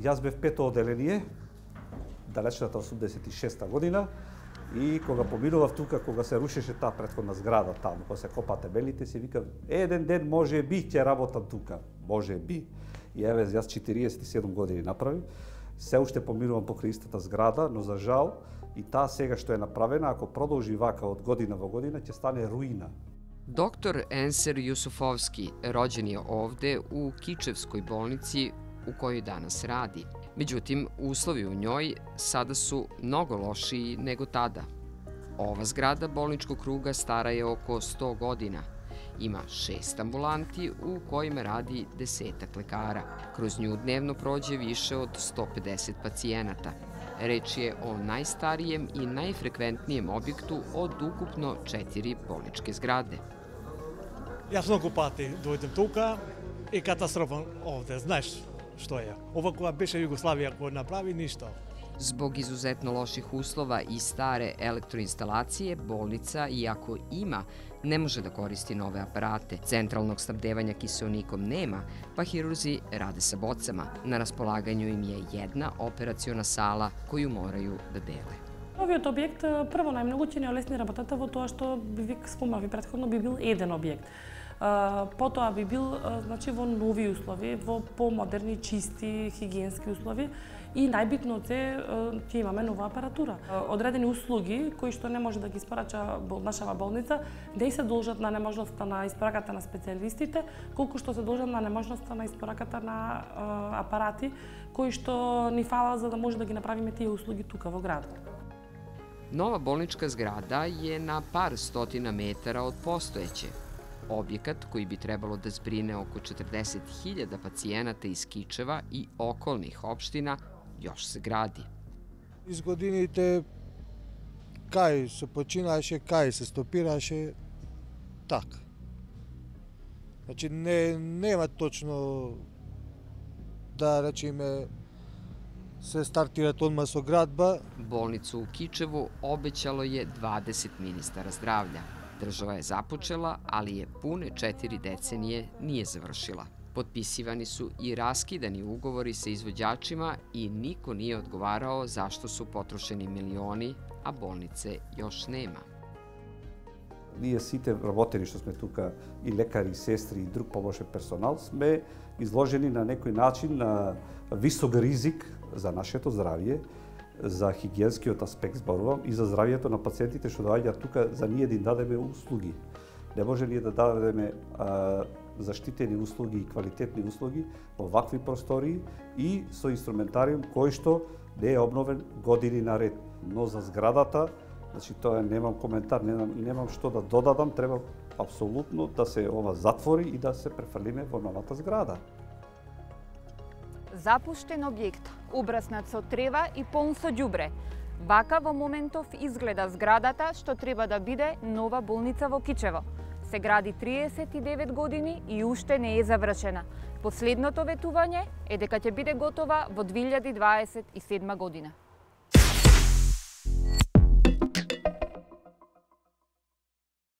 Јас бев пето оделение, далечната 86-та година, и кога поминував тука, кога се рушеше таа претходна зграда таму, кога се копаа тебелите, си викав, еден ден може би ќе работам тука, може би. И еве, јас 47 години направив, се уште поминувам покрај истата зграда, но за жал, и таа сега што е направена, ако продолжи вака од година во година, ќе стане руина. Доктор Енсер Јусуфовски роđen je ovde u Kičevskoj bolnici u kojoj danas radi. Međutim, uslovi u njoj sada su mnogo lošiji nego tada. Ova zgrada bolničkog kruga stara je oko 100 godina. Ima 6 ambulanti u kojima radi 10-ak lekara. Kroz nju dnevno prođe više od 150 pacijenata. Reč je o najstarijem i najfrekventnijem objektu od ukupno 4 bolničke zgrade. Јас многу пати дојдем тука и катастрофа овде, знаеш што е. Ова кога беше Југославија кој направи ништо. Zbog izuzetno loših uslova i stare elektroinstalacije, bolnica, iako ima, ne može da koristi nove aparate. Centralnog snabdevanja kiseonikom nema, pa hirurzi rade sa bocama. Na raspolaganju im je jedna operaciona sala koju moraju da dele. Овиот објект прво најмногу ќе не олесни работата во тоа што ви спомнави претходно би бил еден објект. Потоа би бил значи во нови услови, во помодерни, чисти, хигиенски услови и најбитно од се ќе имаме нова апаратура. Одредени услуги кои што не може да ги испорача нашава болница не се должат на неможноста на испораката на специјалистите, колку што се должат на неможноста на испораката на апарати кои што ни фала за да може да ги направиме тие услуги тука во градот. Nova bolnička zgrada je na par stotina metara od postojeće. Objekat koji bi trebalo da zbrine oko 40.000 pacijenata iz Kičeva i okolnih opština još se gradi. Из годините кај се починаше, кај се стопираше, така. Значи нема точно да речеме се стартират одма со градба. Bolnicu u Kičevu obećalo je 20 ministara zdravlja. Država je započela, ali je pune 4 decenije nije završila. Potpisivani su i raskidani ugovori sa izvođačima i niko nije odgovarao zašto su potrošeni milioni, a bolnice još nema. Ние сите работени што сме тука, и лекари, и сестри, и друг помошен персонал, сме изложени на некој начин на висок ризик за нашето здравје, за хигиенскиот аспект зборувам, и за здравјето на пациентите што доаѓаат тука за ние да им дадеме услуги. Не може ние да дадеме заштитени услуги и квалитетни услуги во вакви простории и со инструментариум кој што не е обновен години наред. Но за зградата, значи тоа немам коментар, немам што да додадам, треба апсолутно да се ова затвори и да се префрлиме во новата зграда. Запуштен објект, убраснат со трева и полн со ѓубре. Вака во моментов изгледа зградата што треба да биде нова болница во Кичево. Се гради 39 години и уште не е завршена. Последното ветување е дека ќе биде готова во 2027 година.